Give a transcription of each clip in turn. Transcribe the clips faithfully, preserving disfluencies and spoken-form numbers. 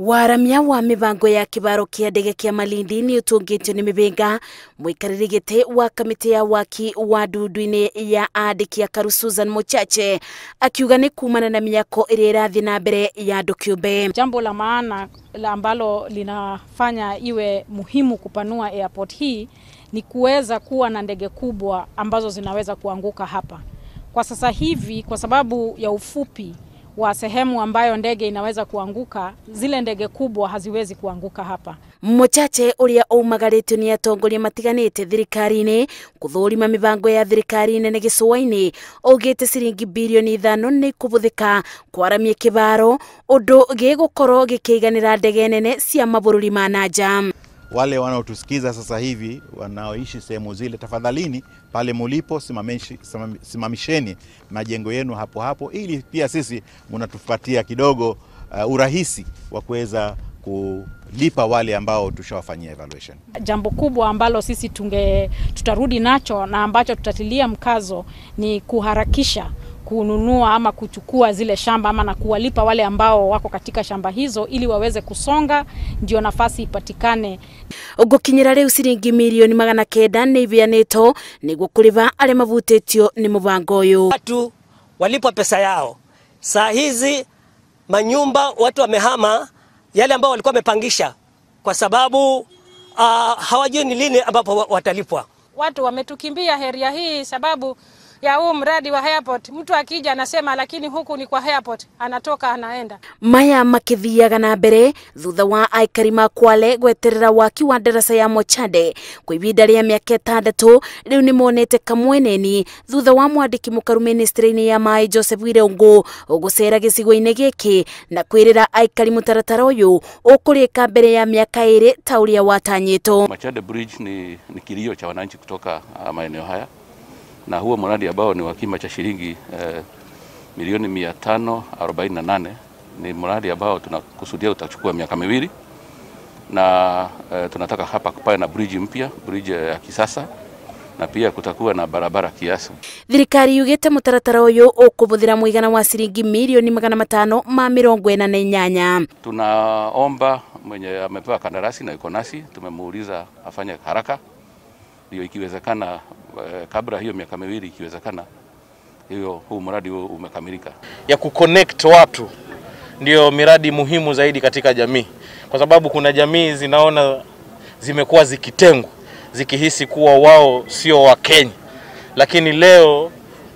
Waramia wa mibango ya kibaro kia ndege kia Malindi ni utungitio ni mibenga mwikariri giti wa kamiti ya waki wa ndudu-ini ya andiki ya Karu Susan Mochache akiuga ni kumana na miyako iri irathi na mbere ya andu kiumbe. Jambo la maana la ambalo linafanya iwe muhimu kupanua airport hii ni kuweza kuwa na ndege kubwa ambazo zinaweza kuanguka hapa. Kwa sasa hivi kwa sababu ya ufupi wa sehemu ambayo ndege inaweza kuanguka, zile ndege kubwa haziwezi kuanguka hapa. Mochache uria umagaritio ni atongoria matiganite thirikari-ini kuthurima mibango ya thirikari nene gicua-ini ugite ciringi bilioni ithano ni kubuthika kwaramia kibaro undu gigukorwo gikiganira ndege nene cia mabururi ma nanja. Wale wanaotusikiza sasa hivi wanaoishi sehemu zile, tafadhalini pale mulipo simamishi, simamisheni majengo yenu hapo hapo, ili pia sisi mnatupatia kidogo uh, urahisi wa kuweza kulipa wale ambao tushawafanyia evaluation. Jambo kubwa ambalo sisi tunge tutarudi nacho na ambacho tutatilia mkazo ni kuharakisha kununua ama kuchukua zile shamba ama na kuwalipa wale ambao wako katika shamba hizo ili waweze kusonga, ndio nafasi ipatikane. Ugukinyira riu ciringi milioni magana kenda ni ibianito niguo kuriva ale mavutitio ni mubango uyu. Watu walipwa pesa yao. Saa hizi manyumba watu wamehama yale ambao walikuwa wamepangisha kwa sababu uh, hawajui ni lini ambapo watalipwa. Watu wametukimbia area hii sababu ya huu mradi wa airport. Mtu akija anasema lakini huku ni kwa airport, anatoka anaenda. Maya makithiaga na mbere thutha wa aikari ma Kwale gweterera waki wa ndaraca ya Mochade kwa ivinda ria miaka itandatu. Riu ni monete kamweneni thutha wa mwandiki mukaru ministry-ini ya mai Joseph Wirungu ugucera gicigo-ini giki na kwirira aikari mutaratara uyu ukurika mbere ya miaka iri ta uria watanyito. Mochade Bridge ni, ni kilio cha wananchi kutoka uh, maeneo haya, na huo mradi ambao ni wa kima cha shilingi eh, milioni mia tano arobaini na nane ni mradi ambao tunakusudia utachukua miaka miwili, na eh, tunataka hapa kupawe na bridge mpya, bridge ya kisasa, na pia kutakuwa na barabara kiasi. Thirikari yugite mutaratara uyu ukubuthira muigana wa shilingi milioni magana matano ma mirongo ina na inyanya. Tunaomba mwenye amepewa kandarasi na yuko nasi, tumemuuliza afanye haraka ndio ikiwezekana kabla hiyo miaka miwili ikiwezekana hiyo huu mradi umekamilika. Ya kuconnect watu ndio miradi muhimu zaidi katika jamii, kwa sababu kuna jamii zinaona zimekuwa zikitengwa, zikihisi kuwa wao sio wa Kenya, lakini leo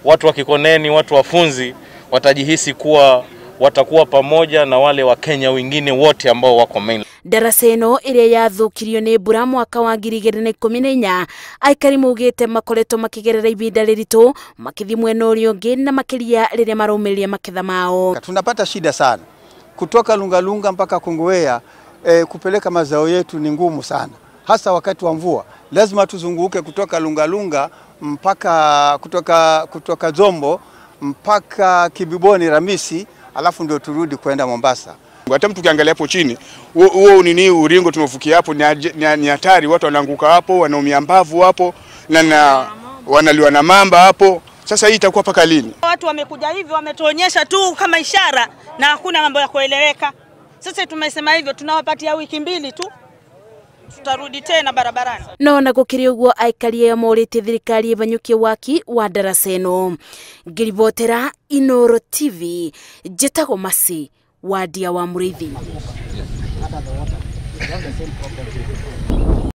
watu wa Kikoneni, watu wafunzi watajihisi kuwa watakuwa pamoja na wale wa Kenya wengine wote ambao wako main. Ndaraca ino iria yathukirio ni mbura mwaka wa ngiri igiri na ikumi na inya, aikari mugite makoretwo makigerera ivinda riritu makithi mwena uria ungi na makiria riria maraumiria maketha mao. Tunapata shida sana kutoka Lungalunga mpaka Kongowea. E, kupeleka mazao yetu ni ngumu sana, hasa wakati wa mvua. Lazima tuzunguke kutoka Lungalunga mpaka kutoka kutoka Zombo mpaka Kibiboni Ramisi, alafu ndio turudi kwenda Mombasa. Hata mtu kiangalia hapo chini, huo nini uringo tumefukia hapo ni hatari, watu wanaanguka hapo, wanaumia mbavu hapo na, na wanaliwa na mamba hapo. Sasa hii itakuwa paka lini? Watu wamekuja hivi wametuonyesha tu kama ishara na hakuna mambo ya kueleweka. Sasa tumesema hivyo tunawapatia wiki mbili tu, tutarudi tena barabarani. No na gukiri uguo aikari ya morite thirikari ibanyukie waki wa ndaraca ino. Ngiribotera Inooro T V, Jetago Masi wa Dia wa Murithi.